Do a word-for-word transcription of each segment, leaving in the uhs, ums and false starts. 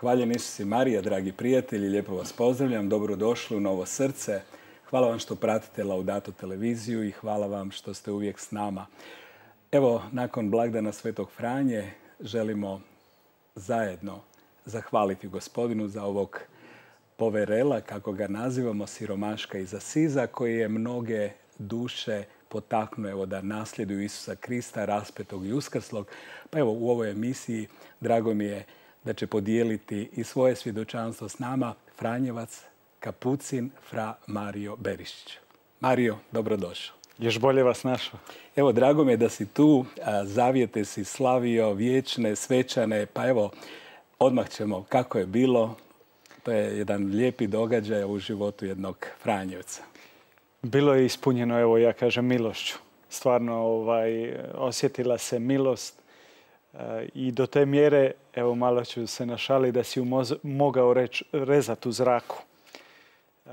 Hvaljen Isus i Marija, dragi prijatelji, lijepo vas pozdravljam, dobrodošli u Novo srce. Hvala vam što pratite Laudato televiziju i hvala vam što ste uvijek s nama. Evo, nakon blagdana Svetog Franje želimo zajedno zahvaliti Gospodinu za ovog poverela, kako ga nazivamo, siromaška iz Asiza, koji je mnoge duše potaknuo evo, da nasljeduju Isusa Krista, raspetog i uskrslog. Pa evo, u ovoj emisiji drago mi je da će podijeliti i svoje svjedočanstvo s nama Franjevac, kapucin, fra Mario Berišić. Mario, dobrodošao. Još bolje vas našao. Evo, drago mi je da si tu, zavjete si slavio, vječne, svečane, pa evo, odmah ćemo kako je bilo. To je jedan lijepi događaj u životu jednog Franjevca. Bilo je ispunjeno, evo ja kažem, milošću. Stvarno ovaj, osjetila se milost e, i do te mjere, evo malo ću se našaliti, da si ju mogao reć, rezati u zraku. E,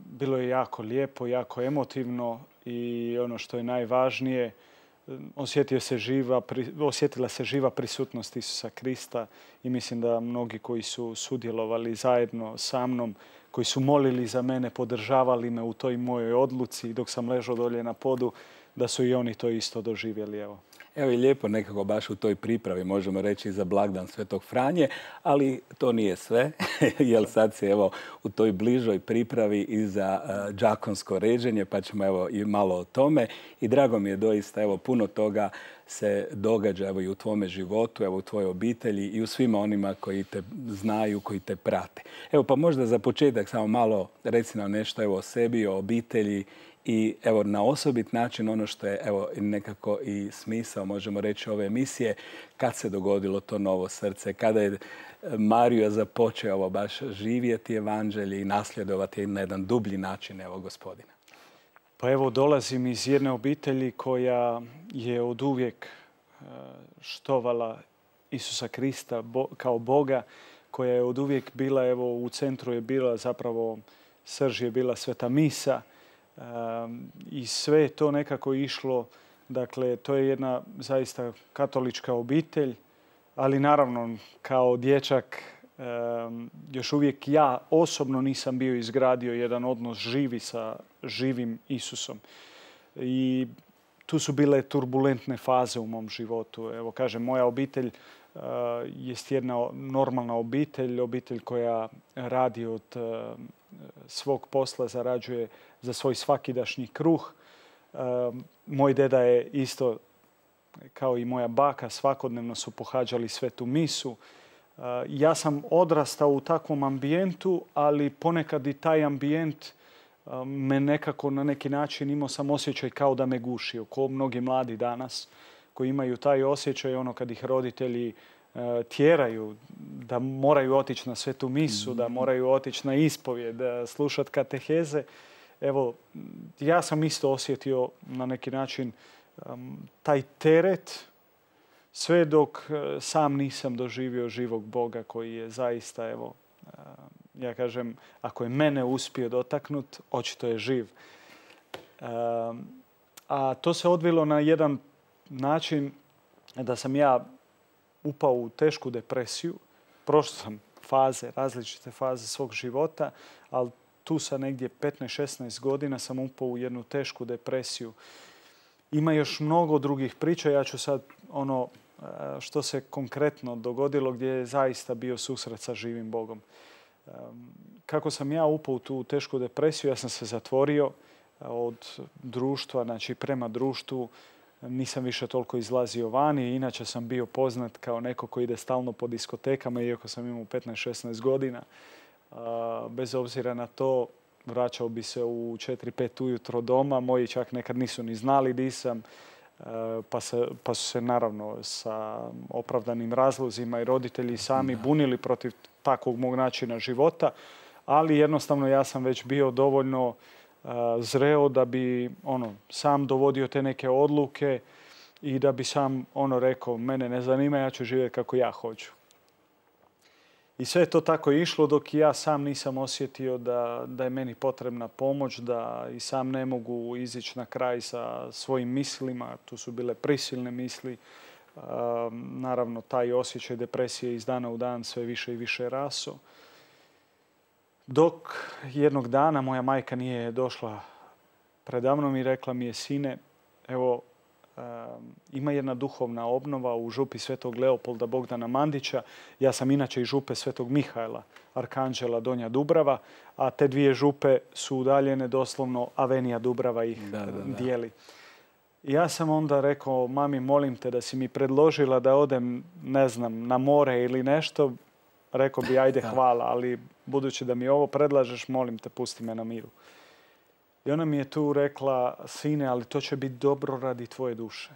bilo je jako lijepo, jako emotivno i ono što je najvažnije, osjetio se živa, osjetila se živa prisutnost Isusa Krista i mislim da mnogi koji su sudjelovali zajedno sa mnom, koji su molili za mene, podržavali me u toj mojoj odluci dok sam ležao dolje na podu, da su i oni to isto doživjeli. Evo. Evo i lijepo nekako baš u toj pripravi, možemo reći, za blagdan Svetog Franje, ali to nije sve, jer sad se evo u toj bližoj pripravi i za uh, đakonsko ređenje, pa ćemo evo i malo o tome. I drago mi je doista, evo puno toga se događa evo i u tvome životu, evo u tvojoj obitelji i u svima onima koji te znaju, koji te prate. Evo pa možda za početak samo malo reci nam nešto evo o sebi, o obitelji. I evo na osobit način ono što je evo nekako i smisao, možemo reći, ove emisije, kad se dogodilo to novo srce, kada je Mario započeo ovo baš živjeti evanđelje i nasljedovati na jedan dublji način evo Gospodina. Pa evo dolazim iz jedne obitelji koja je oduvijek štovala Isusa Krista kao Boga, koja je oduvijek bila, evo u centru je bila zapravo, srž je bila Sveta misa. Um, I sve je to nekako išlo, dakle, to je jedna zaista katolička obitelj, ali naravno kao dječak um, još uvijek ja osobno nisam bio izgradio jedan odnos živi sa živim Isusom. I tu su bile turbulentne faze u mom životu. Evo kažem, moja obitelj uh, jest jedna normalna obitelj, obitelj koja radi od uh, svog posla, zarađuje za svoj svakidašnji kruh. E, moj deda je isto, kao i moja baka, svakodnevno su pohađali svetu misu. E, ja sam odrastao u takvom ambijentu, ali ponekad i taj ambijent e, me nekako na neki način imao sam osjećaj kao da me gušio. Ko mnogi mladi danas koji imaju taj osjećaj, ono kad ih roditelji e, tjeraju da moraju otići na svetu misu, mm-hmm. da moraju otići na ispovjed, da slušati kateheze. Evo, ja sam isto osjetio na neki način um, taj teret sve dok uh, sam nisam doživio živog Boga koji je zaista, evo, uh, ja kažem, ako je mene uspio dotaknut, očito je živ. Uh, a to se odvilo na jedan način da sam ja upao u tešku depresiju. Prošao sam faze, različite faze svog života, ali tu sa negdje petnaest šesnaest godina sam upao u jednu tešku depresiju. Ima još mnogo drugih priča. Ja ću sad ono što se konkretno dogodilo gdje je zaista bio susret sa živim Bogom. Kako sam ja upao u tu tešku depresiju, ja sam se zatvorio od društva, znači prema društvu. Nisam više toliko izlazio vani. Inače sam bio poznat kao neko koji ide stalno po diskotekama, iako sam imao petnaest šesnaest godina. Bez obzira na to, vraćao bi se u četiri pet ujutro doma. Moji čak nekad nisu ni znali di sam. Pa, se, pa su se naravno sa opravdanim razlozima i roditelji sami bunili protiv takvog mog načina života. Ali jednostavno ja sam već bio dovoljno uh, zreo da bi ono, sam dovodio te neke odluke i da bi sam ono rekao, mene ne zanima, ja ću živjeti kako ja hoću. I sve je to tako išlo dok ja sam nisam osjetio da, da je meni potrebna pomoć, da i sam ne mogu izići na kraj sa svojim mislima. Tu su bile prisilne misli, Naravno, taj osjećaj depresije iz dana u dan sve više i više raso. Dok jednog dana moja majka nije došla predamnom i rekla mi je, sine, evo, ima jedna duhovna obnova u župi Svetog Leopolda Bogdana Mandića. Ja sam inače iz župe Svetog Mihajla, Arkanđela, Donja Dubrava, a te dvije župe su udaljene, doslovno Avenija Dubrava ih da, da, da. dijeli. Ja sam onda rekao, mami, molim te da si mi predložila da odem, ne znam, na more ili nešto. Rekao bi, ajde, hvala, ali budući da mi ovo predlažeš, molim te, pusti me na miru. I ona mi je tu rekla, sine, ali to će biti dobro radi tvoje duše.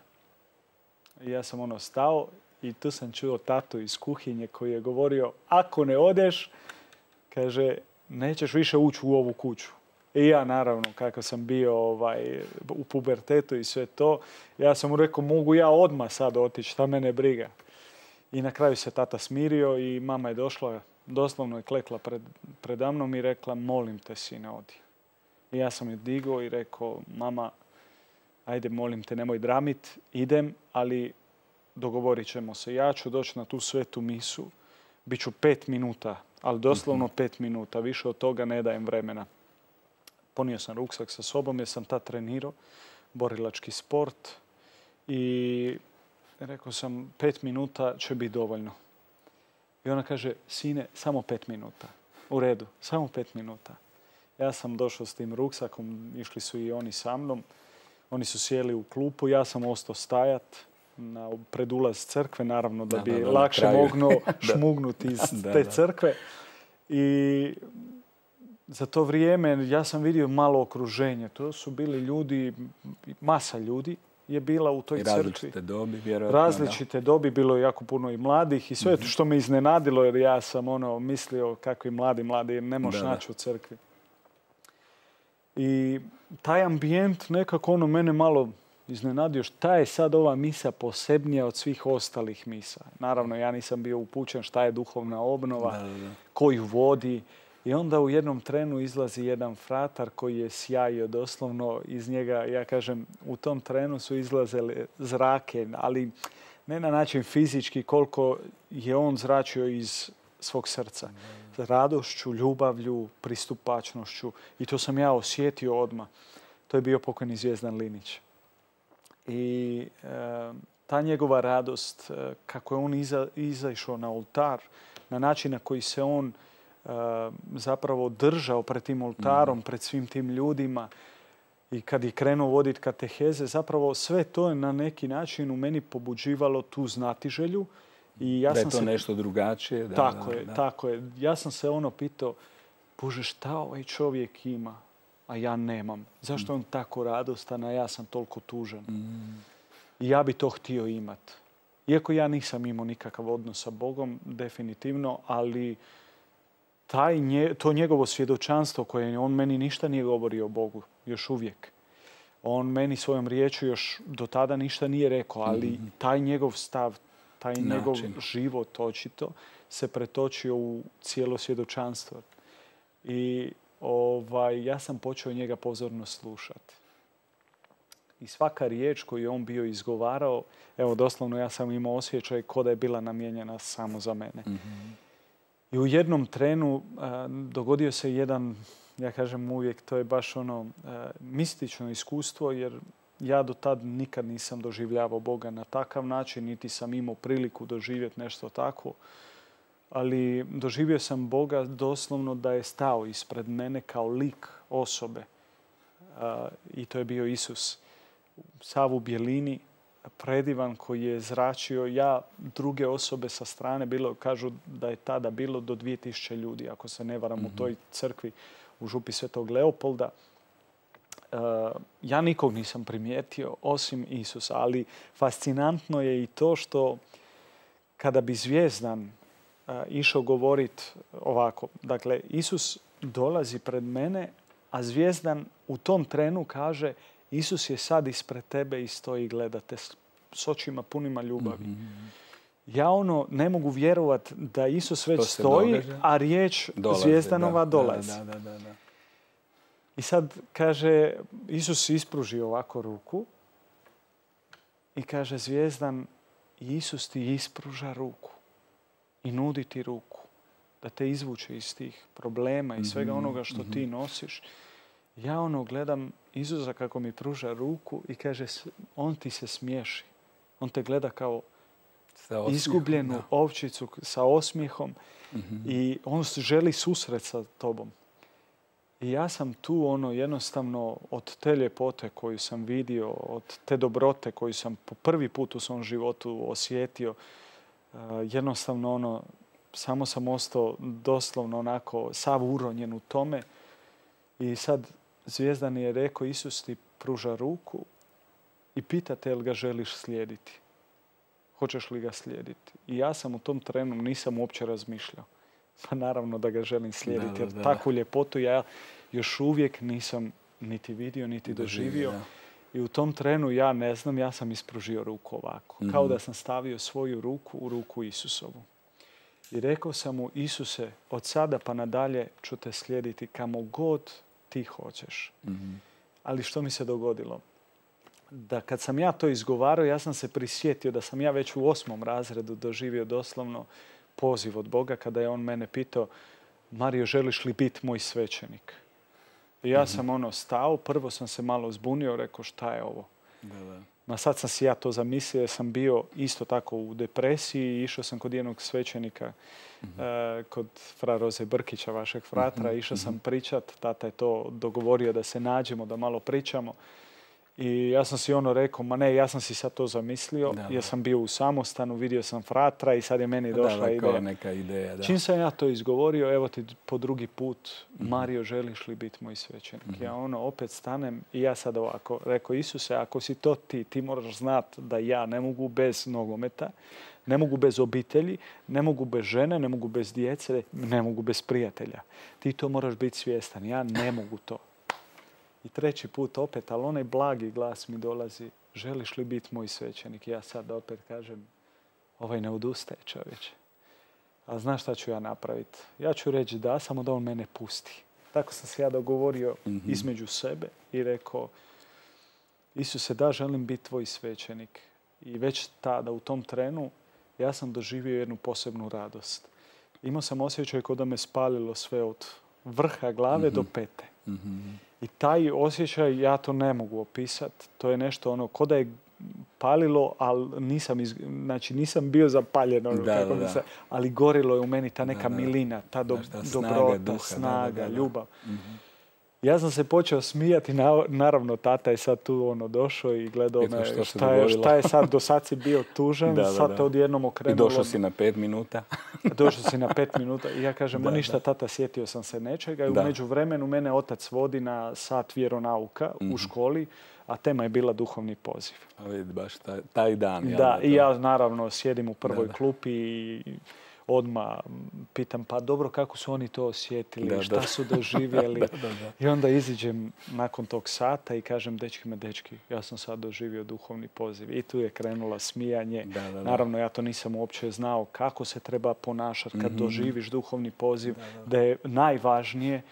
I ja sam ono stao i tu sam čuo tatu iz kuhinje koji je govorio, ako ne odeš, kaže, nećeš više ući u ovu kuću. I ja, naravno, kako sam bio ovaj, u pubertetu i sve to, ja sam mu rekao, mogu ja odmah sad otići, šta mene briga. I na kraju se tata smirio i mama je došla, doslovno je klekla pred, predamnom i rekla, molim te, sine, odi. I ja sam je digao i rekao, mama, ajde, molim te, nemoj dramit, idem, ali dogovorit ćemo se. Ja ću doći na tu svetu misu, bit ću pet minuta, ali doslovno pet minuta, više od toga ne dajem vremena. Ponio sam ruksak sa sobom jer sam tad trenirao, borilački sport i rekao sam, pet minuta će biti dovoljno. I ona kaže, sine, samo pet minuta. U redu, samo pet minuta. Ja sam došao s tim ruksakom, išli su i oni sa mnom. Oni su sjeli u klupu, ja sam ostao stajat na pred ulaz crkve, naravno da bi da, da, lakše mogao šmugnuti iz da, te crkve. I za to vrijeme ja sam vidio malo okruženje. To su bili ljudi, masa ljudi je bila u toj crkvi. Različite dobi, vjerojatno. Različite da. dobi, bilo je jako puno i mladih i sve mm-hmm. što me iznenadilo jer ja sam ono mislio kakvi mladi, mladi, ne možeš naći u crkvi. I taj ambijent nekako ono mene malo iznenadio. Šta je sad ova misa posebnija od svih ostalih misa? Naravno, ja nisam bio upućen šta je duhovna obnova, da, da. ko ju vodi. I onda u jednom trenu izlazi jedan fratar koji je sjajio doslovno iz njega. Ja kažem, u tom trenu su izlazile zrake, ali ne na način fizički koliko je on zračio iz svog srca. Radošću, ljubavlju, pristupačnošću. I to sam ja osjetio odmah. To je bio pokojni Zvijezdan Linić. I e, ta njegova radost, e, kako je on iza, izašao na oltar, na način na koji se on e, zapravo držao pred tim oltarom, mm. pred svim tim ljudima i kad je krenuo voditi kateheze, zapravo sve to je na neki način u meni pobuđivalo tu znatiželju. I ja da je sam to se... nešto drugačije. Da, tako da, je, da. tako je. Ja sam se ono pitao, Bože, šta ovaj čovjek ima, a ja nemam? Zašto mm. on tako radostan, a ja sam toliko tužan? Mm. I ja bi to htio imat. Iako ja nisam imao nikakav odnos sa Bogom, definitivno, ali taj nje, to njegovo svjedočanstvo koje on meni ništa nije govorio o Bogu, još uvijek. On meni svojom riječju još do tada ništa nije rekao, ali mm. taj njegov stav, taj način. Njegov život očito se pretočio u cijelo svjedočanstvo. I ovaj, ja sam počeo njega pozorno slušati. I svaka riječ koju je on bio izgovarao, evo doslovno ja sam imao osjećaj kao da je bila namijenjena samo za mene. Mm-hmm. I u jednom trenu a, dogodio se jedan, ja kažem uvijek, to je baš ono a, mistično iskustvo, jer ja do tad nikad nisam doživljavao Boga na takav način, niti sam imao priliku doživjeti nešto tako. Ali doživio sam Boga doslovno da je stao ispred mene kao lik osobe. A, I to je bio Isus. Sav u bjelini, predivan koji je zračio. Ja, druge osobe sa strane, bilo, kažu da je tada bilo do dvije tisuće ljudi, ako se ne varam, mm-hmm. u toj crkvi u župi Svetog Leopolda. Uh, ja nikog nisam primijetio osim Isusa, ali fascinantno je i to što kada bi Zvijezdan uh, išao govoriti ovako, dakle, Isus dolazi pred mene, a Zvijezdan u tom trenu kaže Isus je sad ispred tebe i stoji i gleda te s očima punima ljubavi. Mm-hmm. Ja ono ne mogu vjerovati da Isus već stoji, događa, a riječ dolazi, Zvijezdanova da, dolazi. Da, da, da, da. I sad kaže, Isus ispruži ovako ruku i kaže, Zvijezdan, I Isus ti ispruža ruku i nudi ti ruku da te izvuče iz tih problema i svega onoga što ti nosiš. Ja ono gledam Isusa kako mi pruža ruku i kaže, on ti se smiješi. On te gleda kao izgubljenu ovčicu sa osmijehom i on želi susret sa tobom. I ja sam tu ono jednostavno od te ljepote koju sam vidio, od te dobrote koju sam po prvi put u svom životu osjetio, jednostavno ono, samo sam ostao doslovno onako sav uronjen u tome. I sad Zvijezdan je rekao, Isus ti pruža ruku i pita te jel ga želiš slijediti. Hoćeš li ga slijediti? I ja sam u tom trenu nisam uopće razmišljao. Pa naravno da ga želim slijediti. Jer takvu ljepotu ja još uvijek nisam niti vidio, niti doživio. I u tom trenu ja ne znam, ja sam ispružio ruku ovako. Mm-hmm. Kao da sam stavio svoju ruku u ruku Isusovu. I rekao sam mu, Isuse, od sada pa nadalje ću te slijediti kamo god ti hoćeš. Mm-hmm. Ali što mi se dogodilo? Da kad sam ja to izgovarao, ja sam se prisjetio da sam ja već u osmom razredu doživio doslovno poziv od Boga kada je on mene pitao, Mario, želiš li biti moj svećenik? I ja sam ono stao, prvo sam se malo zbunio, rekao šta je ovo? Da, da. Ma sad sam si ja to zamislio, jer sam bio isto tako u depresiji i išao sam kod jednog svećenika, mm-hmm. uh, kod fra Roze Brkića, vašeg fratra, mm-hmm. išao sam pričat, tata je to dogovorio da se nađemo, da malo pričamo. I ja sam si ono rekao, ma ne, ja sam si sad to zamislio, da, jer sam bio u samostanu, vidio sam fratra i sad je meni došla da, da, ideja. Neka ideja da. Čim sam ja to izgovorio, evo ti po drugi put, mm-hmm. Mario, želiš li biti moj svećenik? Mm-hmm. Ja ono opet stanem i ja sad ovako rekao, Isuse, ako si to ti, ti moraš znati da ja ne mogu bez nogometa, ne mogu bez obitelji, ne mogu bez žene, ne mogu bez djece, ne mogu bez prijatelja. Ti to moraš biti svjestan, ja ne mogu to. I treći put opet, ali onaj blagi glas mi dolazi, želiš li biti moj svećenik? Ja sad opet kažem, ovaj ne odustaje čovječe. A znaš šta ću ja napraviti? Ja ću reći da, samo da on mene pusti. Tako sam se ja dogovorio mm-hmm. između sebe i rekao, Isuse, da, želim biti tvoj svećenik. I već tada, u tom trenu, ja sam doživio jednu posebnu radost. Imao sam osjećaj kao da me spalilo sve od vrha glave mm-hmm. do pete. Mm-hmm. I taj osjećaj, ja to ne mogu opisati. To je nešto ono, ko da je palilo, ali nisam, iz, znači nisam bio zapaljen. Ono, da, kako da, se, ali gorilo je u meni ta neka da, milina, ta do, da, dobrota, snaga, duha, snaga da, da, da. ljubav. Mm-hmm. Ja sam se počeo smijati, naravno tata je sad tu ono došao i gledao me šta, šta, je, šta je sad, do sad si bio tužan, da, da, sad te odjednom okrenulo. I došao si na pet minuta. Došao si na pet minuta i ja kažem, da, ma ništa da. Tata, sjetio sam se nečega i u međuvremenu mene otac vodi na sat vjeronauka mm-hmm. u školi, a tema je bila duhovni poziv. A vidi, baš taj, taj dan. Da, da, i ja naravno sjedim u prvoj da, da. klupi i odmah pitam, pa dobro, kako su oni to osjetili, da, šta da. su doživjeli. da, da, da. I onda iziđem nakon tog sata i kažem, dečki me, dečki, ja sam sad doživio duhovni poziv. I tu je krenula smijanje. Da, da, da. Naravno, ja to nisam uopće znao kako se treba ponašati kad mm-hmm. doživiš duhovni poziv, da, da. da je najvažnije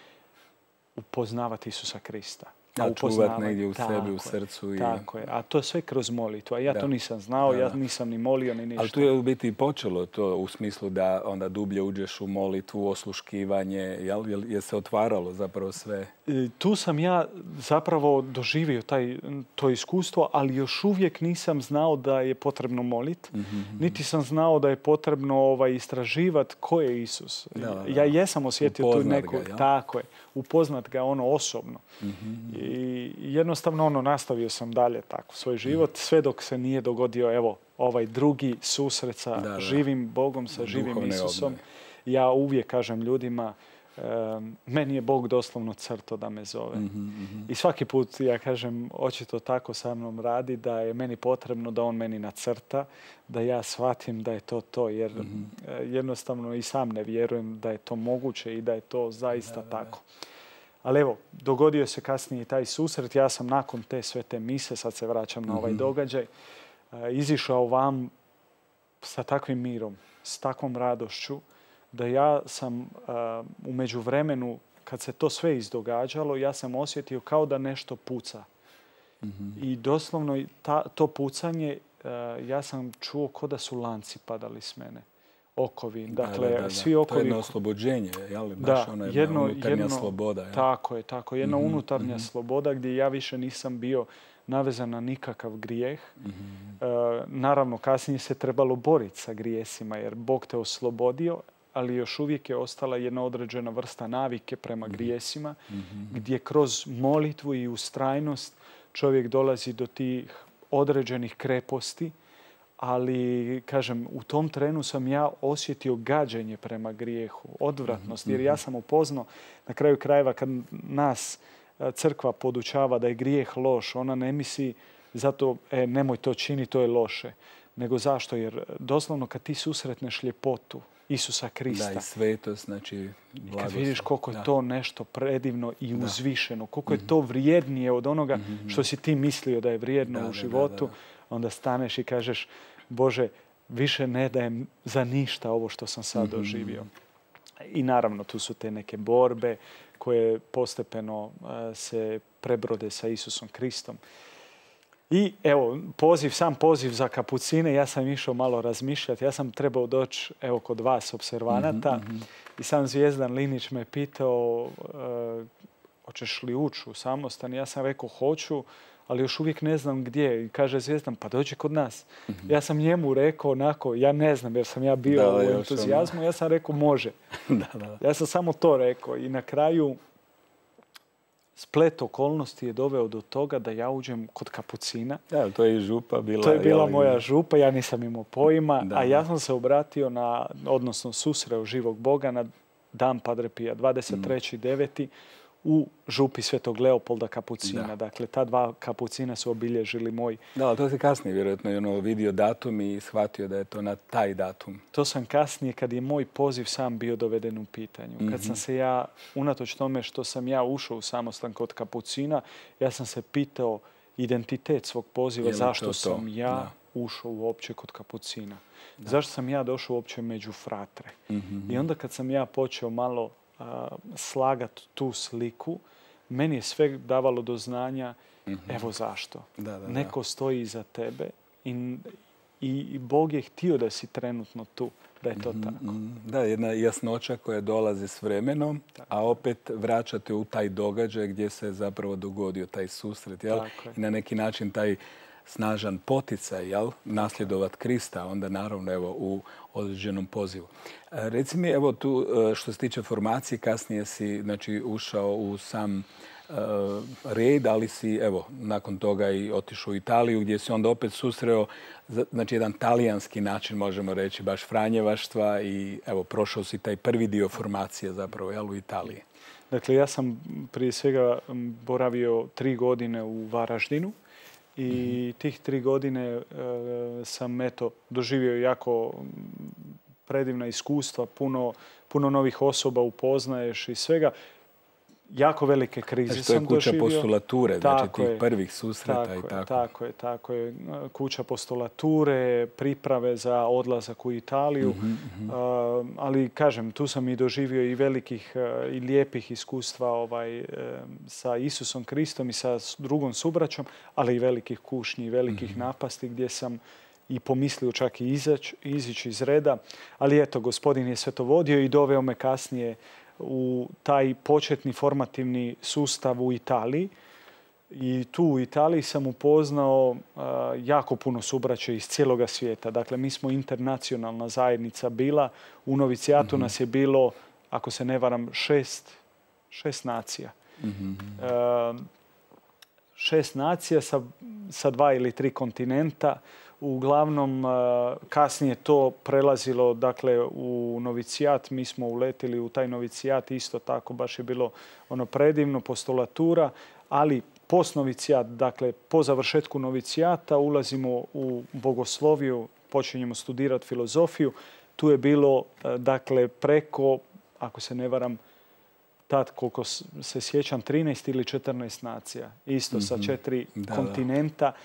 upoznavati Isusa Krista. A čuvati negdje u sebi, u srcu. I... Tako je. A to je sve kroz molitvu. A ja da. to nisam znao, da. ja nisam ni molio ni ništa. Ali tu je u biti počelo to u smislu da onda dublje uđeš u molitvu, osluškivanje. Jel, jel je se otvaralo zapravo sve? I tu sam ja zapravo doživio taj, to iskustvo, ali još uvijek nisam znao da je potrebno moliti. Mm-hmm. Niti sam znao da je potrebno ovaj, istraživati ko je Isus. Da, da. Ja jesam osjetio tu neku... Ga, tako je. Upoznat ga ono osobno. Mm-hmm. I jednostavno ono, nastavio sam dalje tako svoj život, sve dok se nije dogodio evo ovaj drugi susret sa da, da. živim Bogom, sa živim Duhovne Isusom. Obnove. Ja uvijek kažem ljudima, um, meni je Bog doslovno crto da me zove. Mm-hmm, mm-hmm. I svaki put ja kažem, očito tako sa mnom radi, da je meni potrebno da on meni nacrta, da ja shvatim da je to to, jer mm-hmm. jednostavno i sam ne vjerujem da je to moguće i da je to zaista da, da, tako. Da. Ali evo, dogodio se kasnije taj susret. Ja sam nakon te sve te mise, sad se vraćam na ovaj mm-hmm. događaj, izišao vam sa takvim mirom, s takvom radošću, da ja sam uh, u međuvremenu, kad se to sve izdogađalo, ja sam osjetio kao da nešto puca. Mm-hmm. I doslovno ta, to pucanje ja sam čuo ko da su lanci padali s mene. Okovi. Dakle, da, da, da. svi okovi... To je jedno oslobođenje, jel? Baš da, ona jedna jedno, unutarnja jedno, sloboda. Jel? Tako je, tako. Jedna mm-hmm, unutarnja mm-hmm. sloboda gdje ja više nisam bio navezan na nikakav grijeh. Mm-hmm. E, naravno, kasnije se trebalo boriti sa grijesima jer Bog te oslobodio, ali još uvijek je ostala jedna određena vrsta navike prema mm-hmm. grijesima, mm-hmm. gdje kroz molitvu i ustrajnost čovjek dolazi do tih određenih kreposti, ali, kažem, u tom trenu sam ja osjetio gađenje prema grijehu, odvratnost, jer ja sam upoznao, na kraju krajeva, kad nas crkva podučava da je grijeh loš, ona ne misli zato, e, nemoj to čini, to je loše. Nego zašto? Jer doslovno kad ti susretneš ljepotu Isusa Krista. Da, i svetost, znači blagost. I kad vidiš koliko je da. to nešto predivno i da. uzvišeno, koliko je to vrijednije od onoga mm-hmm. što si ti mislio da je vrijedno da, u životu, da, da, da. onda staneš i kažeš, Bože, više ne dajem za ništa ovo što sam sad mm-hmm. doživio. I naravno, tu su te neke borbe koje postepeno uh, se prebrode sa Isusom Kristom. I evo, poziv, sam poziv za kapucine, ja sam išao malo razmišljati. Ja sam trebao doći evo, kod vas, observanata. Mm-hmm. I sam Zvijezdan Linić me pitao uh, hoćeš li ući u samostan. Ja sam rekao hoću, ali još uvijek ne znam gdje. I kaže Zvijezdan, pa dođi kod nas. Mm-hmm. Ja sam njemu rekao onako, ja ne znam jer sam ja bio da, u entuzijazmu. Ono. Ja sam rekao može. da, da. Ja sam samo to rekao. I na kraju splet okolnosti je doveo do toga da ja uđem kod kapucina. Da, to je i župa bila. To je bila jel, moja župa, ja nisam imao pojma. Da, a ja sam se obratio na, odnosno susreo živog Boga na dan Padre Pija, dvadeset treći deveti u župi Svetog Leopolda Kapucina. Da. Dakle, ta dva kapucina su obilježili moj... Da, ali to si kasnije vjerojatno ono, vidio datum i shvatio da je to na taj datum. To sam kasnije kad je moj poziv sam bio doveden u pitanju. Mm-hmm. Kad sam se ja, unatoč tome što sam ja ušao u samostan kod kapucina, ja sam se pitao identitet svog poziva, zašto to, sam to? ja da. ušao uopće kod kapucina. Da. Zašto sam ja došao uopće među fratre. Mm-hmm. I onda kad sam ja počeo malo slagati tu sliku, meni je sve davalo do znanja mm-hmm. evo zašto. Da, da, Neko da. stoji iza tebe i, i Bog je htio da si trenutno tu, da je to mm-hmm. tako. Da, jedna jasnoća koja dolazi s vremenom, tako. a opet vraćate u taj događaj gdje se zapravo dogodio taj susret. Jel? I na neki način taj snažan poticaj, jel, nasljedovat Krista, onda naravno evo u određenom pozivu. E, reci mi, evo tu što se tiče formacije, kasnije si znači, ušao u sam e, red, ali si evo nakon toga i otišao u Italiju gdje si onda opet susreo znači jedan talijanski način, možemo reći, baš franjevaštva i evo prošao si taj prvi dio formacije zapravo, jel, u Italiji. Dakle, ja sam prije svega boravio tri godine u Varaždinu. I mm-hmm. tih tri godine e, sam eto, doživio jako predivna iskustva, puno, puno novih osoba upoznaješ i svega. Jako velike krize znači, sam doživio. To je kuća postulature, znači tako tih je, prvih susreta tako i tako. Je, tako je, tako je. Kuća postulature, priprave za odlazak u Italiju. Mm-hmm, mm-hmm. Uh, ali, kažem, tu sam i doživio i velikih uh, i lijepih iskustva ovaj, uh, sa Isusom Kristom i sa drugom subraćom, ali i velikih kušnji i velikih mm-hmm. napasti gdje sam i pomislio čak i izać, izići iz reda. Ali eto, Gospodin je sve to vodio i doveo me kasnije u taj početni formativni sustav u Italiji. I tu u Italiji sam upoznao uh, jako puno subraća iz cijeloga svijeta. Dakle, mi smo internacionalna zajednica bila. U novicijatu mm-hmm. nas je bilo, ako se ne varam, šest, šest nacija. Mm-hmm. Uh, šest nacija sa, sa dva ili tri kontinenta. Uglavnom, kasnije to prelazilo dakle, u novicijat. Mi smo uletili u taj novicijat. Isto tako baš je bilo ono predivno, postulatura. Ali postnovicijat, dakle po završetku novicijata ulazimo u bogosloviju, počinjemo studirati filozofiju. Tu je bilo dakle preko, ako se ne varam, tad koliko se sjećam, trinaest ili četrnaest nacija. Isto mm-hmm. sa četiri da, kontinenta. Da.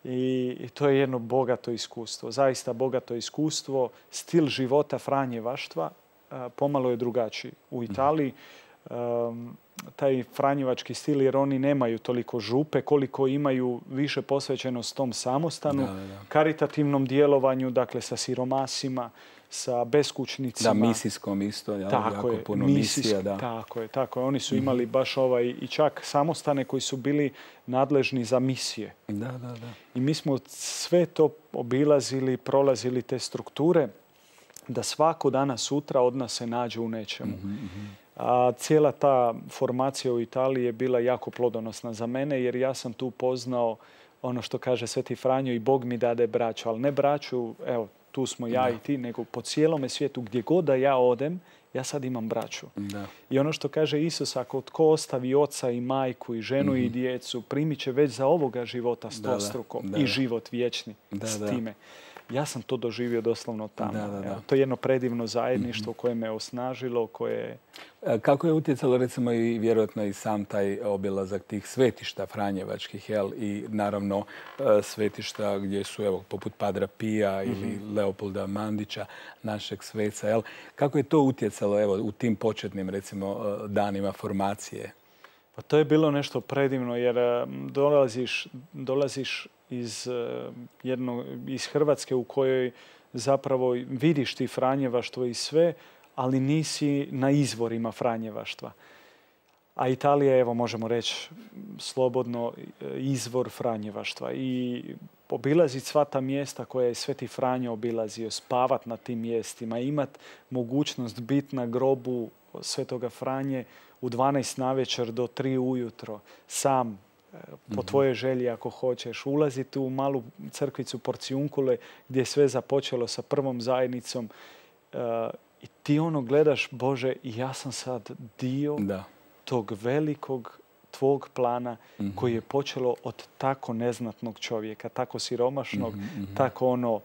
I to je jedno bogato iskustvo, zaista bogato iskustvo. Stil života franjevaštva pomalo je drugačiji. U Italiji um, taj franjevački stil, jer oni nemaju toliko župe, koliko imaju više posvećenost tom samostanu, Da, da. karitativnom djelovanju, dakle sa siromasima, sa beskućnicima. Da, misijskom isto, jel? Tako Jako je, puno misijsk- misija, da. Tako je, tako je. Oni su imali baš ovaj, i čak samostane koji su bili nadležni za misije. Da, da, da. I mi smo sve to obilazili, prolazili te strukture, da svako danas sutra od nas se nađe u nečemu. A cijela ta formacija u Italiji je bila jako plodonosna za mene, jer ja sam tu poznao ono što kaže Sveti Franjo, i Bog mi dade braću, ali ne braću, evo, tu smo ja Da. i ti, nego po cijelome svijetu, gdje god da ja odem, ja sad imam braću. Da. I ono što kaže Isus, ako tko ostavi oca i majku i ženu i djecu, primit će već za ovoga života stostruko da, i da. život vječni Da, s da. time. Ja sam to doživio doslovno tamo. Da, da, da. Evo, to je jedno predivno zajedništvo koje me osnažilo, koje... E, Kako je utjecalo recimo i vjerojatno i sam taj obilazak tih svetišta franjevačkih, jel? I naravno e, svetišta gdje su evo poput Padra Pija ili Leopolda Mandića, našeg sveca, jel? Kako je to utjecalo evo u tim početnim recimo e, danima formacije? Pa to je bilo nešto predivno, jer e, dolaziš, dolaziš iz, e, jedno, iz Hrvatske u kojoj zapravo vidiš ti franjevaštvo i sve, ali nisi na izvorima franjevaštva. A Italija je, evo možemo reći slobodno, izvor franjevaštva. I obilaziti sva ta mjesta koja je Sveti Franjo obilazio, spavat na tim mjestima, imat mogućnost biti na grobu Svetoga Franje u dvanaest navečer do tri ujutro, sam, po tvojoj želji ako hoćeš, ulaziti u malu crkvicu Porciunkule gdje je sve započelo sa prvom zajednicom. I ti ono gledaš, Bože, ja sam sad dio Da. tog velikog tvog plana koji je počelo od tako neznatnog čovjeka, tako siromašnog, tako ono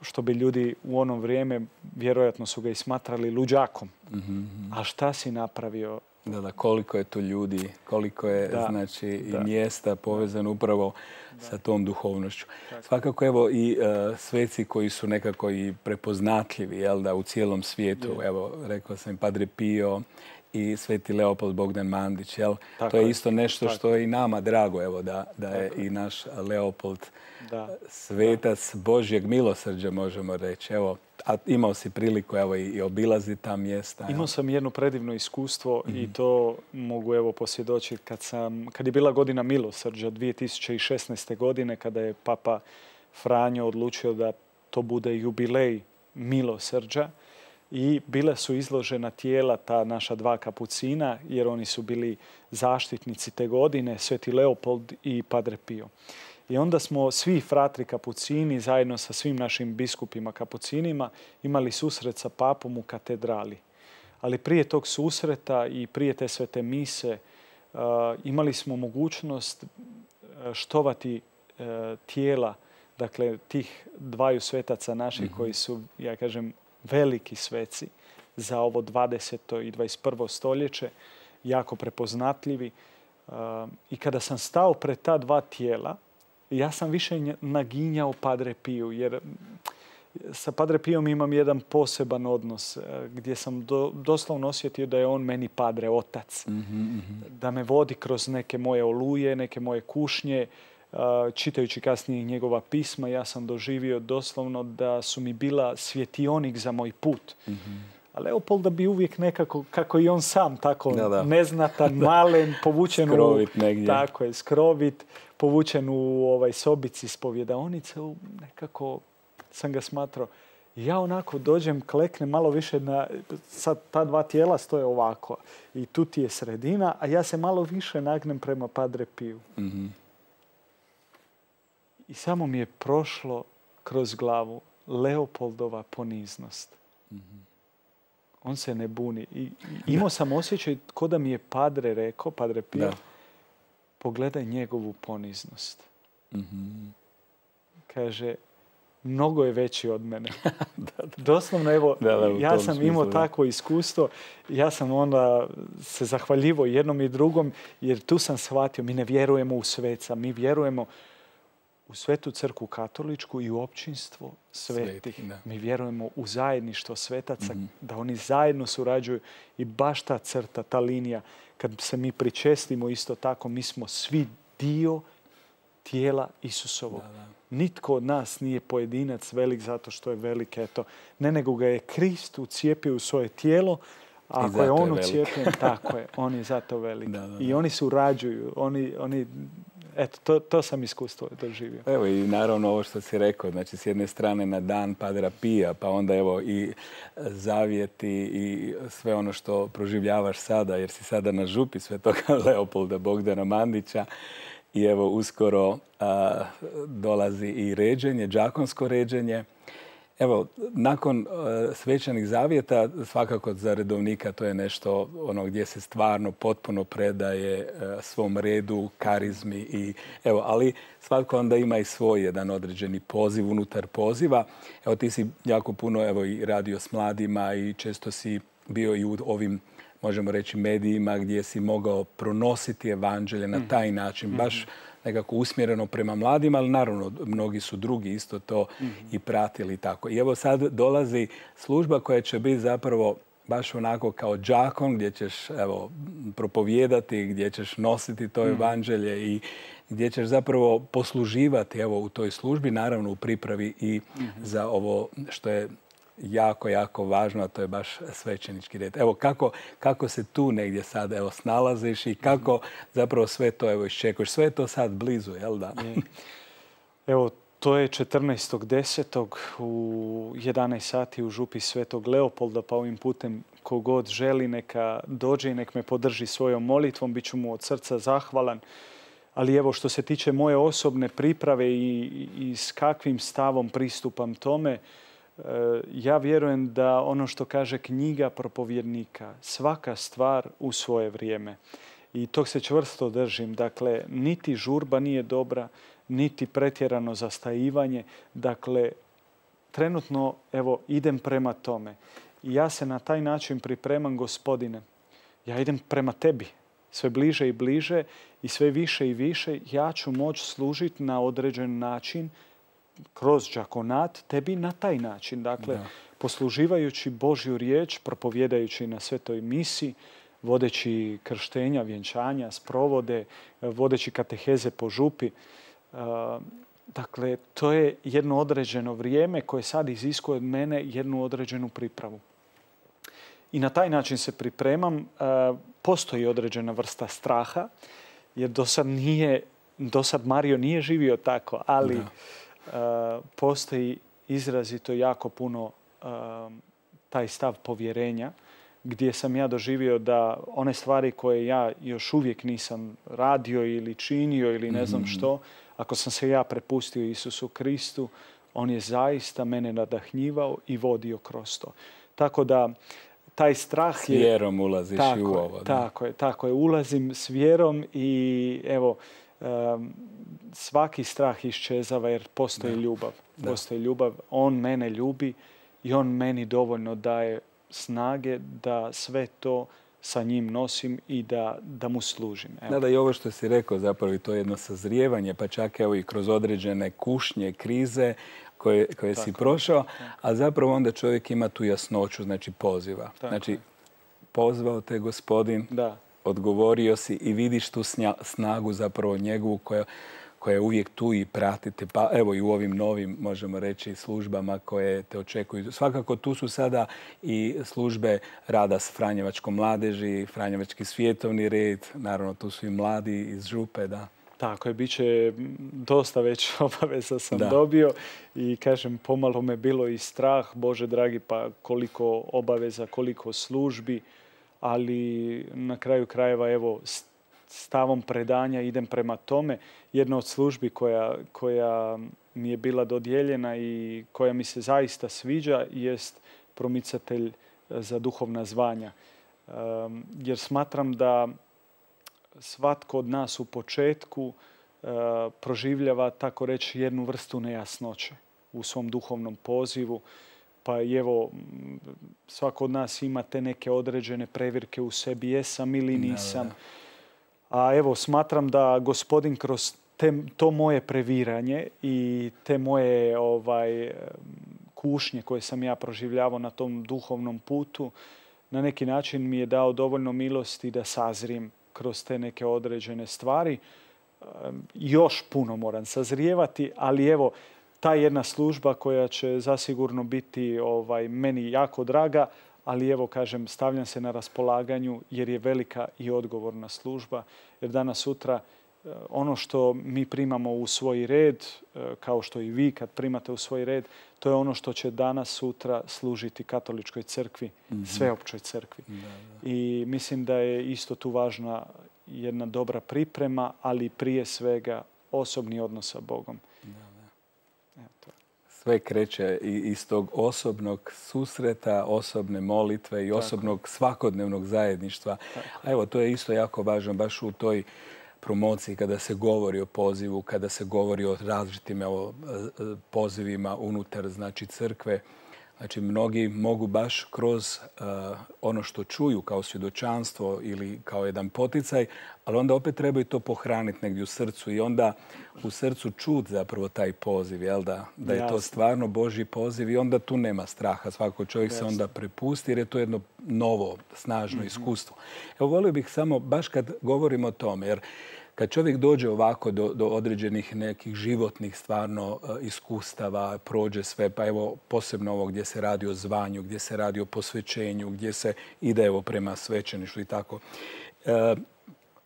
što bi ljudi u ono vrijeme vjerojatno su ga i smatrali luđakom. A šta si napravio? Da, da, koliko je tu ljudi, koliko je Da, znači i da. mjesta povezano upravo sa tom duhovnošću. Svakako evo i e, sveci koji su nekako i prepoznatljivi, jel da, u cijelom svijetu. Evo, rekao sam i Padre Pio i Sveti Leopold Bogdan Mandić, jel? Tako to je je. isto nešto Tako što je i nama drago, evo, da, da je i naš Leopold Da. svetac Božjeg milosrđa, možemo reći. Evo, a imao si priliku evo, i, i obilaziti ta mjesta. Imao evo. sam jedno predivno iskustvo i to mogu evo posvjedočiti kad sam, kad je bila godina milosrđa dvije tisuće šesnaeste. godine, kada je Papa Franjo odlučio da to bude jubilej milosrđa, i bila su izložena tijela ta naša dva kapucina, jer oni su bili zaštitnici te godine, Sveti Leopold i Padre Pio. I onda smo svi fratri kapucini zajedno sa svim našim biskupima kapucinima imali susret sa papom u katedrali. Ali prije tog susreta i prije te svete mise uh, imali smo mogućnost štovati uh, tijela, dakle tih dvaju svetaca naših koji su, ja kažem, veliki sveci za ovo dvadeseto i dvadeset prvo stoljeće, jako prepoznatljivi. Uh, I kada sam stao pred ta dva tijela, ja sam više naginjao Padre Piju, jer sa Padre Pijom imam jedan poseban odnos gdje sam do, doslovno osjetio da je on meni Padre, otac. Mm-hmm. Da me vodi kroz neke moje oluje, neke moje kušnje. Čitajući kasnije njegova pisma, ja sam doživio doslovno da su mi bila svjetionik za moj put. Mm-hmm. A Leopolda bi uvijek nekako, kako i on sam, tako da, da. neznatan, malen, povučen skrovit u... negdje. Tako je, skrovit, povučen u ovaj sobici spovjedaonice, nekako sam ga smatrao. Ja onako dođem, kleknem malo više na... Sad ta dva tijela stoje ovako i tu ti je sredina, a ja se malo više nagnem prema Padre Piju. Mm-hmm. I samo mi je prošlo kroz glavu Leopoldova poniznost. Mm-hmm. On se ne buni. I, i imao sam osjećaj ko da mi je Padre rekao, Padre Pio, da. Pogledaj njegovu poniznost. Mm-hmm. Kaže, mnogo je veći od mene. da, da. Doslovno, evo, da, da, ja sam imao smislu, takvo iskustvo. Ja sam onda se zahvaljivo jednom i drugom, jer tu sam shvatio, mi ne vjerujemo u sveca, mi vjerujemo u Svetu crkvu katoličku i u općinstvo svetih. Sveti, da. Mi vjerujemo u zajedništvo svetaca, Mm-hmm. da oni zajedno surađuju i baš ta crta, ta linija, kad se mi pričestimo isto tako, mi smo svi dio tijela Isusovog. Da, da. Nitko od nas nije pojedinac velik zato što je velik, eto. Ne, nego ga je Krist ucijepio u svoje tijelo, a ako je on ucijepljen, tako je, on je zato velik. Da, da, da. I oni surađuju, oni, oni eto, to, to sam iskustvo doživio. Evo i naravno ovo što si rekao, znači s jedne strane na dan Padra Pija, pa onda evo i zavjeti i sve ono što proživljavaš sada, jer si sada na župi Svetoga Leopolda Bogdana Mandića. I evo uskoro a, dolazi i ređenje, đakonsko ređenje. Evo, nakon a, svečanih zavjeta, svakako za redovnika to je nešto ono gdje se stvarno potpuno predaje a, svom redu, karizmi. I, evo, ali svatko onda ima i svoj jedan određeni poziv unutar poziva. Evo, ti si jako puno evo, i radio s mladima i često si bio i u ovim, možemo reći, medijima gdje si mogao pronositi evanđelje na taj način, baš nekako usmjereno prema mladima, ali naravno mnogi su drugi isto to i pratili tako. I evo sad dolazi služba koja će biti zapravo baš onako kao đakon gdje ćeš evo, propovijedati, gdje ćeš nositi to evanđelje i gdje ćeš zapravo posluživati evo, u toj službi, naravno u pripravi i za ovo što je jako, jako važno, a to je baš svećenički red. Evo, kako, kako se tu negdje sad evo, snalaziš i kako zapravo sve to evo, iščekuješ? Sve je to sad blizu, jel da? Evo, to je četrnaestog desetog u jedanaest sati u župi Svetog Leopolda, pa ovim putem kogod želi neka dođe i nek me podrži svojom molitvom, bit ću mu od srca zahvalan. Ali evo, što se tiče moje osobne priprave i, i s kakvim stavom pristupam tome, ja vjerujem da ono što kaže knjiga propovjednika, svaka stvar u svoje vrijeme. I tog se čvrsto držim. Dakle, niti žurba nije dobra, niti pretjerano zastajivanje. Dakle, trenutno, evo, idem prema tome. I ja se na taj način pripremam, Gospodine. Ja idem prema tebi. Sve bliže i bliže i sve više i više ja ću moći služiti na određen način kroz đakonat tebi na taj način. Dakle, da. Posluživajući Božju riječ, propovjedajući na svetoj misi, vodeći krštenja, vjenčanja, sprovode, vodeći kateheze po župi. Dakle, to je jedno određeno vrijeme koje sad iziskuje od mene jednu određenu pripravu. I na taj način se pripremam. Postoji određena vrsta straha, jer do sad, nije, do sad Mario nije živio tako, ali da. Uh, postoji izrazito jako puno uh, taj stav povjerenja gdje sam ja doživio da one stvari koje ja još uvijek nisam radio ili činio ili ne znam što, ako sam se ja prepustio Isusu Kristu, on je zaista mene nadahnjivao i vodio kroz to. Tako da taj strah je... S vjerom ulaziš tako i u ovo. Je, tako je, tako je. Ulazim s vjerom i evo, um, svaki strah iščezava jer postoji da. ljubav. Da. Postoji ljubav. On mene ljubi i on meni dovoljno daje snage da sve to sa njim nosim i da, da mu služim. Evo. Da, da, i ovo što si rekao zapravo i to je jedno sazrijevanje, pa čak evo i kroz određene kušnje, krize koje, koje si prošao, a zapravo onda čovjek ima tu jasnoću, znači poziva. Tako znači, je. Pozvao te Gospodin, da. Odgovorio si i vidiš tu snagu zapravo njegovu koja, koja je uvijek tu i pratite. Pa evo i u ovim novim, možemo reći, službama koje te očekuju. Svakako tu su sada i službe rada s Franjevačkom mladeži, Franjevački svjetovni red, naravno tu su i mladi iz župe, da. Tako je, bit će dosta već obaveza sam da. dobio i kažem, pomalo me bilo i strah, Bože dragi, pa koliko obaveza, koliko službi, ali na kraju krajeva, evo, stavom predanja idem prema tome. Jedna od službi koja, koja mi je bila dodijeljena i koja mi se zaista sviđa jest promicatelj za duhovna zvanja. Um, jer smatram da svatko od nas u početku uh, proživljava, tako reći, jednu vrstu nejasnoće u svom duhovnom pozivu. Pa i evo, svako od nas ima te neke određene previrke u sebi, jesam ili nisam. A evo, smatram da Gospodin kroz te, to moje previranje i te moje ovaj, kušnje koje sam ja proživljavao na tom duhovnom putu, na neki način mi je dao dovoljno milosti da sazrijem kroz te neke određene stvari. Još puno moram sazrijevati, ali evo, ta jedna služba koja će zasigurno biti ovaj, meni jako draga, ali evo, kažem, stavljam se na raspolaganju jer je velika i odgovorna služba. Jer danas sutra ono što mi primamo u svoj red, kao što i vi kad primate u svoj red, to je ono što će danas sutra služiti katoličkoj crkvi, mm-hmm. sveopćoj crkvi. Da, da. I mislim da je isto tu važna jedna dobra priprema, ali prije svega osobni odnos sa Bogom. Da, da. Eto. Sve kreće iz tog osobnog susreta, osobne molitve i Tako. osobnog svakodnevnog zajedništva. Tako. A evo, to je isto jako važno baš u toj promociji kada se govori o pozivu, kada se govori o različitim evo, pozivima unutar znači, crkve. Znači, mnogi mogu baš kroz uh, ono što čuju kao svjedočanstvo ili kao jedan poticaj, ali onda opet trebaju to pohraniti negdje u srcu i onda u srcu čut zapravo taj poziv, jel da? Da je Jasne. to stvarno Božji poziv i onda tu nema straha. Svako čovjek Jasne. se onda prepusti jer je to jedno novo, snažno mm-hmm. iskustvo. Evo, volio bih samo, baš kad govorimo o tome, jer kad čovjek dođe ovako do, do određenih nekih životnih stvarno uh, iskustava, prođe sve, pa evo posebno ovo gdje se radi o zvanju, gdje se radi o posvećenju, gdje se ide evo prema svećeništvu i tako. Uh,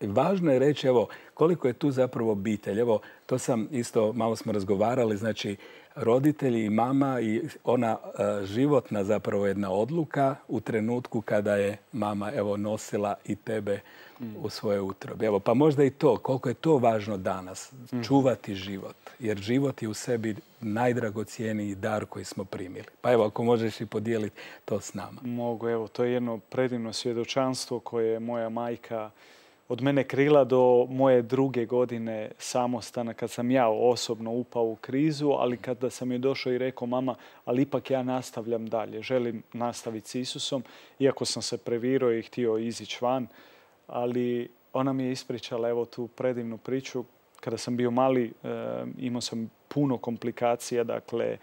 važno je reći evo koliko je tu zapravo obitelj. Evo to sam isto, malo smo razgovarali, znači roditelji i mama i ona uh, životna zapravo jedna odluka u trenutku kada je mama evo nosila i tebe u svoje utrobe. Evo, pa možda i to, koliko je to važno danas, čuvati život. Jer život je u sebi najdragocijeniji dar koji smo primili. Pa evo, ako možeš i podijeliti to s nama. Mogu, evo, to je jedno predivno svjedočanstvo koje je moja majka od mene krila do moje druge godine samostana, kad sam ja osobno upao u krizu, ali kada sam joj došao i rekao, mama, ali ipak ja nastavljam dalje, želim nastaviti s Isusom, iako sam se previrao i htio izići van, ali ona mi je ispričala evo tu predivnu priču. Kada sam bio mali, e, imao sam puno komplikacija, dakle,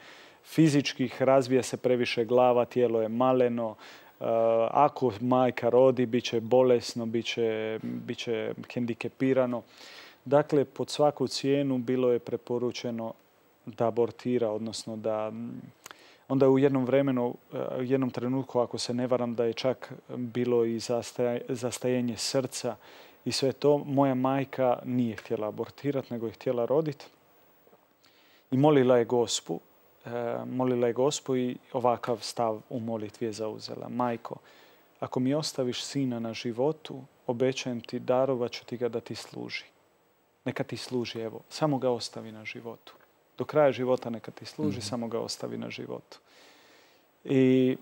fizičkih, razvija se previše glava, tijelo je maleno. E, ako majka rodi, bit će bolesno, bit će, bit će hendikepirano. Dakle, pod svaku cijenu bilo je preporučeno da abortira, odnosno da... Onda u jednom vremenu, u jednom trenutku, ako se ne varam, da je čak bilo i zastajenje srca i sve to, moja majka nije htjela abortirati, nego je htjela roditi. I molila je Gospu, molila je Gospu i ovakav stav u molitvi je zauzela. Majko, ako mi ostaviš sina na životu, obećajem ti, darovat ću ti ga da ti služi. Neka ti služi, evo, samo ga ostavi na životu. Do kraja života neka ti služi, mm-hmm. samo ga ostavi na životu. I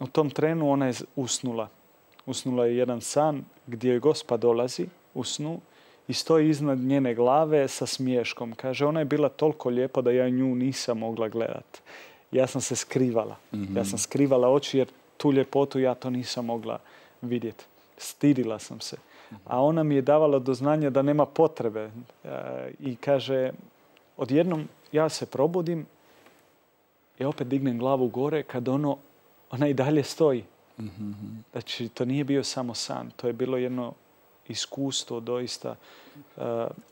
u tom trenu ona je usnula. Usnula je jedan san gdje joj Gospa dolazi u snu i stoji iznad njene glave sa smiješkom. Kaže, ona je bila toliko lijepa da ja nju nisam mogla gledati. Ja sam se skrivala. Mm-hmm. Ja sam skrivala oči jer tu ljepotu ja to nisam mogla vidjeti. Stidila sam se. Mm-hmm. A ona mi je davala do znanja da nema potrebe. E, I kaže... Odjednom ja se probudim i opet dignem glavu gore kad ono, ona i dalje stoji. Mm-hmm. Znači, to nije bio samo san. To je bilo jedno iskustvo, doista uh,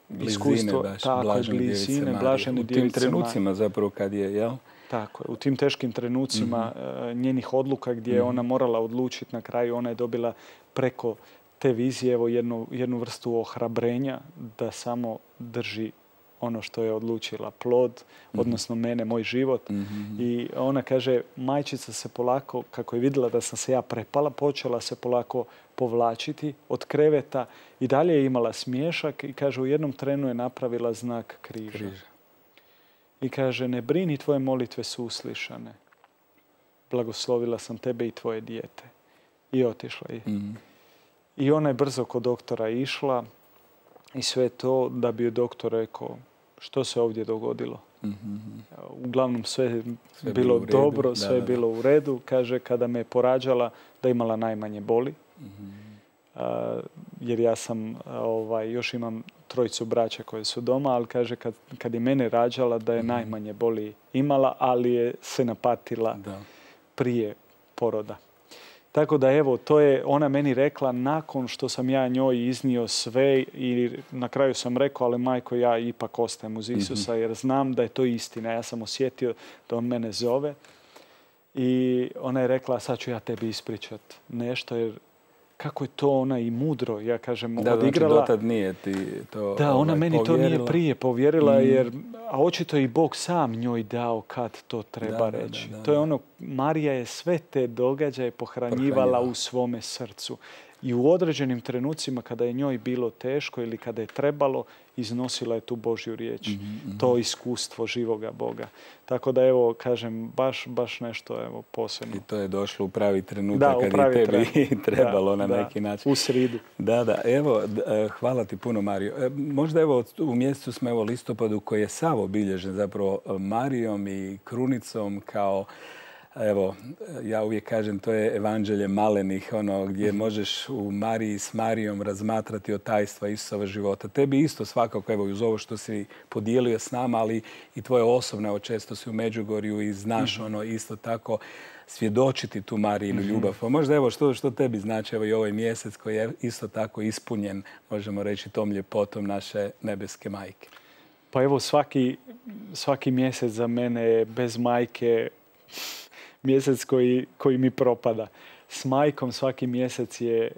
blizine, iskustvo. Baš, tako je, blizine, blažene djevice. U tim trenucima zapravo kad je, jel? Tako je. U tim teškim trenucima mm-hmm. uh, njenih odluka gdje je mm-hmm. ona morala odlučiti na kraju, ona je dobila preko te vizije evo, jednu, jednu vrstu ohrabrenja da samo drži ono što je odlučila, plod, mm-hmm. odnosno mene, moj život. Mm-hmm. I ona kaže, majčica se polako, kako je vidjela da sam se ja prepala, počela se polako povlačiti od kreveta i dalje je imala smiješak i kaže, u jednom trenu je napravila znak križa. križa. I kaže, ne brini, tvoje molitve su uslišane. Blagoslovila sam tebe i tvoje dijete. I otišla je. Mm-hmm. I ona je brzo kod doktora išla i sve to da bi joj doktor rekao što se ovdje dogodilo. Mm-hmm. Uglavnom sve je sve bilo redu, dobro, da, sve je bilo u redu. Kaže, kada me je porađala da imala najmanje boli. Mm-hmm. Uh, jer ja sam, ovaj, još imam trojicu braća koje su doma, ali kaže kad, kad je mene rađala da je mm-hmm. najmanje boli imala, ali je se napatila da. prije poroda. Tako da evo, to je ona meni rekla nakon što sam ja njoj iznio sve i na kraju sam rekao, ali majko, ja ipak ostajem uz Isusa mm-hmm. jer znam da je to istina. Ja sam osjetio da on mene zove i ona je rekla, sad ću ja tebi ispričat nešto jer kako je to ona i mudro, ja kažem, da, odigrala. Znači, dotad nije ti to Da, ona ovaj, meni povjerila. to nije prije povjerila, mm. jer, a očito i Bog sam njoj dao kad to treba da, reći. Da, da, to je da. ono, Marija je sve te događaje pohranjivala Pohranjiva. u svome srcu. I u određenim trenucima kada je njoj bilo teško ili kada je trebalo, iznosila je tu Božju riječ. Mm-hmm. To iskustvo živoga Boga. Tako da evo, kažem, baš, baš nešto evo, posebno. I to je došlo u pravi trenutak da, kad pravi je tebi trenutak. trebalo da, na da, neki način. U sridu. Da, da. Evo, hvala ti puno, Mario. Možda evo u mjesecu smo evo listopadu koji je sav obilježen zapravo Marijom i krunicom kao evo, ja uvijek kažem, to je evanđelje malenih, ono gdje možeš u Mariji s Marijom razmatrati od tajstva Isusova života. Tebi isto svakako, evo, uz ovo što si podijelio s nama, ali i tvoje osobne, evo, često si u Međugorju i znaš ono isto tako svjedočiti tu Marijinu ljubav. Pa možda evo što, što tebi znači evo i ovaj mjesec koji je isto tako ispunjen, možemo reći, tom ljepotom naše nebeske majke. Pa evo svaki, svaki mjesec za mene je bez majke mjesec koji, koji mi propada. S majkom svaki mjesec je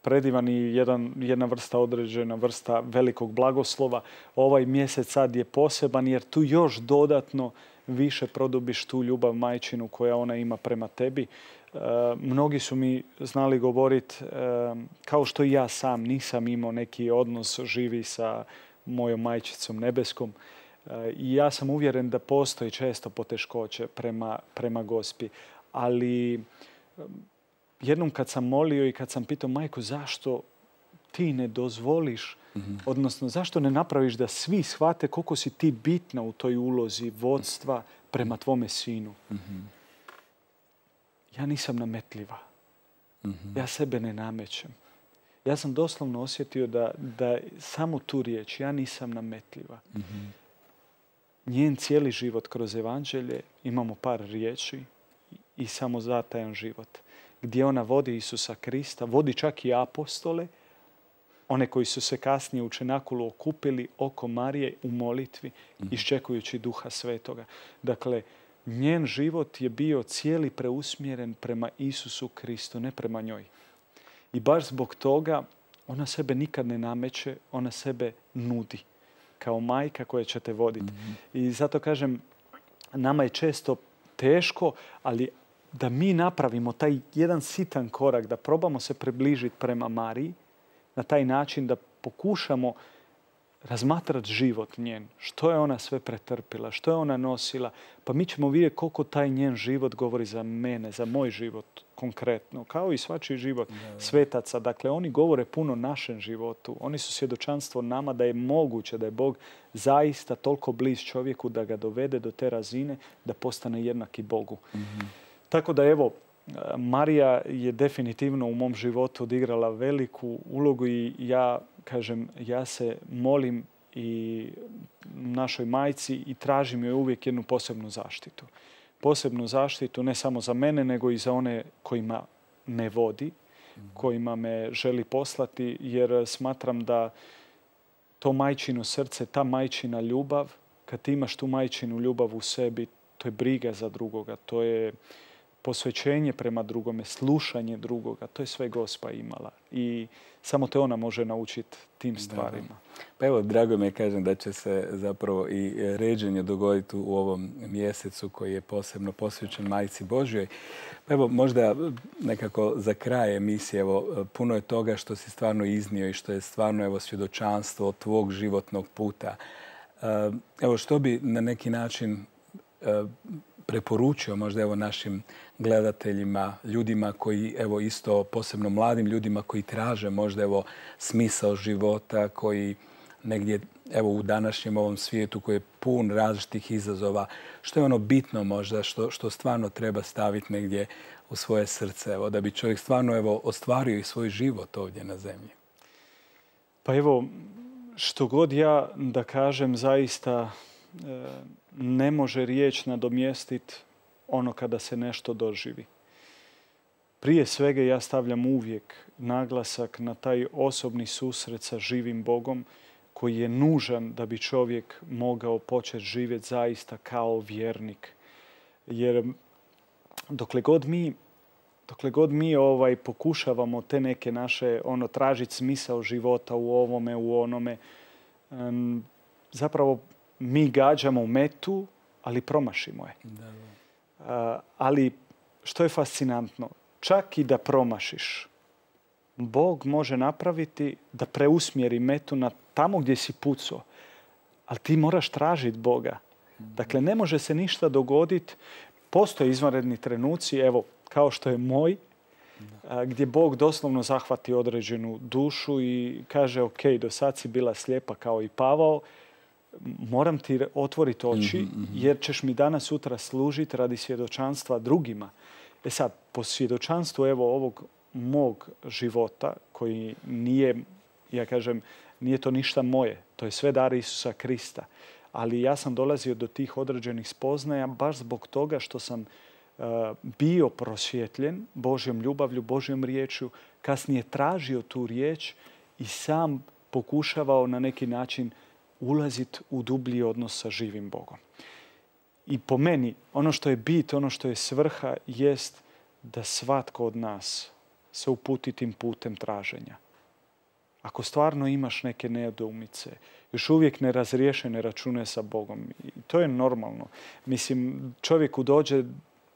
predivan i jedan, jedna vrsta određena, vrsta velikog blagoslova. Ovaj mjesec sad je poseban jer tu još dodatno više produbiš tu ljubav majčinu koja ona ima prema tebi. E, mnogi su mi znali govoriti, e, kao što i ja sam nisam imao neki odnos živi sa mojom majčicom nebeskom. I ja sam uvjeren da postoji često poteškoće prema, prema Gospi. Ali jednom kad sam molio i kad sam pitao, majko, zašto ti ne dozvoliš, mm-hmm. odnosno zašto ne napraviš da svi shvate koliko si ti bitna u toj ulozi vodstva prema tvome sinu. Mm-hmm. Ja nisam nametljiva. Mm-hmm. Ja sebe ne namećem. Ja sam doslovno osjetio da, da samo tu riječ, ja nisam nametljiva. Mm-hmm. Njen cijeli život kroz evanđelje imamo par riječi i samo zatajan život. Gdje ona vodi Isusa Krista, vodi čak i apostole, one koji su se kasnije u Čenakulu okupili oko Marije u molitvi, mm-hmm. iščekujući Duha Svetoga. Dakle, njen život je bio cijeli preusmjeren prema Isusu Kristu, ne prema njoj. I baš zbog toga ona sebe nikad ne nameće, ona sebe nudi kao majka koja će te voditi. Mm-hmm. I zato kažem, nama je često teško, ali da mi napravimo taj jedan sitan korak, da probamo se približiti prema Mariji, na taj način da pokušamo razmatrati život njen. Što je ona sve pretrpila, što je ona nosila. Pa mi ćemo vidjeti koliko taj njen život govori za mene, za moj život konkretno. Kao i svačiji život da, da. svetaca. Dakle, oni govore puno našem životu. Oni su svjedočanstvo nama da je moguće, da je Bog zaista toliko bliz čovjeku da ga dovede do te razine da postane jednaki Bogu. Mm-hmm. Tako da evo, Marija je definitivno u mom životu odigrala veliku ulogu i ja kažem, ja se molim i našoj majci i tražim joj uvijek jednu posebnu zaštitu. Posebnu zaštitu ne samo za mene, nego i za one kojima me vodi, kojima me želi poslati, jer smatram da to majčino srce, ta majčina ljubav, kad ti imaš tu majčinu ljubav u sebi, to je briga za drugoga, to je posvećenje prema drugome, slušanje drugoga, to je sve Gospa imala. I samo te ona može naučiti tim stvarima. Da. Pa evo, drago mi je kažem da će se zapravo i ređenje dogoditi u ovom mjesecu koji je posebno posvećen Majci Božjoj. Pa evo, možda nekako za kraj emisije, evo, puno je toga što si stvarno iznio i što je stvarno evo, svjedočanstvo tvog životnog puta. Evo, što bi na neki način preporučio možda evo našim gledateljima, ljudima koji evo isto posebno mladim ljudima koji traže možda evo smisao života, koji negdje evo u današnjem ovom svijetu koji je pun različitih izazova, što je ono bitno možda što, što stvarno treba staviti negdje u svoje srce, evo, da bi čovjek stvarno evo ostvario i svoj život ovdje na zemlji? Pa evo, što god ja da kažem, zaista ne može riječ nadomjestiti ono kada se nešto doživi. Prije svega ja stavljam uvijek naglasak na taj osobni susret sa živim Bogom koji je nužan da bi čovjek mogao početi živjeti zaista kao vjernik. Jer dokle god mi, dokle god mi ovaj, pokušavamo te neke naše, ono, tražiti smisao života u ovome, u onome, um, zapravo mi gađamo u metu, ali promašimo je. Da, da. Uh, ali što je fascinantno, čak i da promašiš, Bog može napraviti da preusmjeri metu na tamo gdje si pucao. Ali ti moraš tražiti Boga. Dakle, ne može se ništa dogoditi. Postoje izvanredni trenuci, evo, kao što je moj, a, gdje Bog doslovno zahvati određenu dušu i kaže, ok, do sad si bila slijepa kao i Pavao, moram ti otvoriti oči, jer ćeš mi danas sutra služiti radi svjedočanstva drugima. E sad, po svjedočanstvu evo ovog mog života, koji nije, ja kažem, nije to ništa moje, to je sve dar Isusa Krista. Ali ja sam dolazio do tih određenih spoznaja baš zbog toga što sam uh, bio prosvjetljen Božjom ljubavlju, Božjom riječju, kasnije tražio tu riječ i sam pokušavao na neki način ulaziti u dublji odnos sa živim Bogom. I po meni, ono što je bit, ono što je svrha, jest da svatko od nas se uputi tim putem traženja. Ako stvarno imaš neke nedoumice, još uvijek nerazriješene račune sa Bogom, i to je normalno. Mislim, čovjeku dođe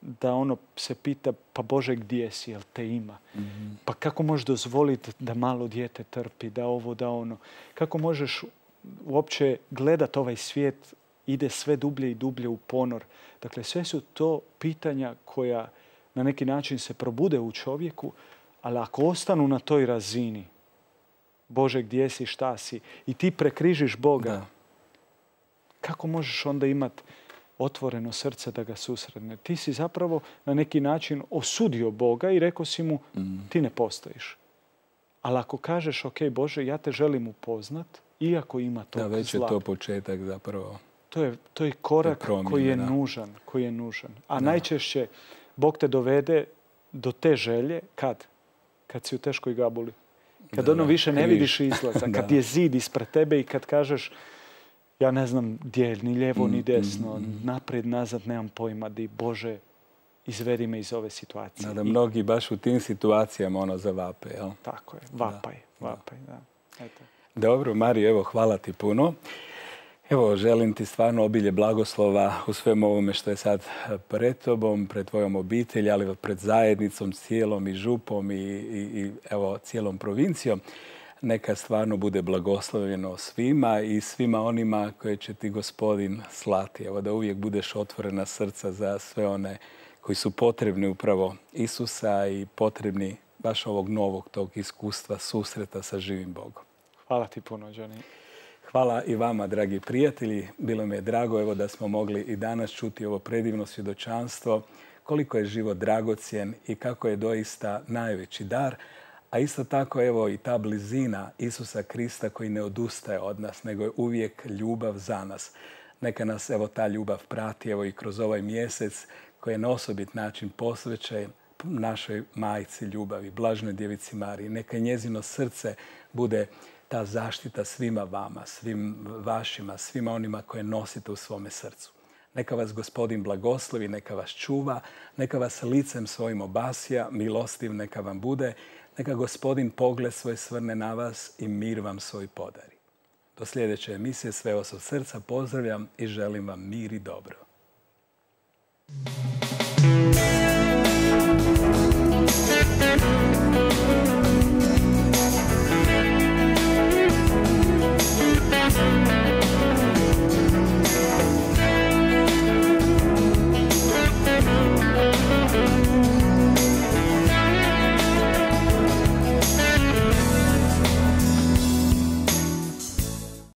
da ono se pita, pa Bože, gdje si, jel te ima? Mm-hmm. Pa kako možeš dozvoliti da malo dijete trpi, da ovo, da ono? Kako možeš uopće gledati ovaj svijet, ide sve dublje i dublje u ponor? Dakle, sve su to pitanja koja na neki način se probude u čovjeku, ali ako ostanu na toj razini, Bože, gdje si, šta si, i ti prekrižiš Boga, da. Kako možeš onda imati otvoreno srce da ga susretne? Ti si zapravo na neki način osudio Boga i rekao si mu, mm. ti ne postojiš. Ali ako kažeš, ok, Bože, ja te želim upoznat, iako ima tog zla. Da, već je to početak zapravo. To je, to je korak promjene, koji je nužan, koji je nužan. A da. Najčešće Bog te dovede do te želje kad? Kad si u teškoj gabuli. Kad da, ono više ne vidiš izlaza. Kad je zid ispred tebe i kad kažeš, ja ne znam gdje je, ni lijevo, mm, ni desno, mm, naprijed, nazad, nemam pojma, di Bože, izvedi me iz ove situacije. Da, da mnogi baš u tim situacijama ono zavape, jel? Tako je, vapaj, da, vapaj, da. da. Eto. Dobro, Mario, evo, hvala ti puno. Evo, želim ti stvarno obilje blagoslova u svemu ovome što je sad pred tobom, pred tvojom obitelji, ali pred zajednicom, cijelom i župom i, i, i evo, cijelom provincijom. Neka stvarno bude blagoslovljeno svima i svima onima koje će ti Gospodin slati. Evo, da uvijek budeš otvorena srca za sve one koji su potrebni upravo Isusa i potrebni baš ovog novog tog iskustva, susreta sa živim Bogom. Hvala ti puno, Johnny. Hvala i vama, dragi prijatelji. Bilo mi je drago evo, da smo mogli i danas čuti ovo predivno svjedočanstvo, koliko je život dragocjen i kako je doista najveći dar. A isto tako evo i ta blizina Isusa Krista koji ne odustaje od nas, nego je uvijek ljubav za nas. Neka nas evo ta ljubav prati evo i kroz ovaj mjesec koji je na osobit način posvećen našoj majci ljubavi, blažnoj djevici Mariji. Neka njezino srce bude ta zaštita svima vama, svim vašima, svima onima koje nosite u svome srcu. Neka vas Gospodin blagoslovi, neka vas čuva, neka vas licem svojim obasja, milostiv neka vam bude, neka Gospodin pogled svoj svrne na vas i mir vam svoj podari. Do sljedeće emisije sve vas od srca pozdravljam i želim vam mir i dobro.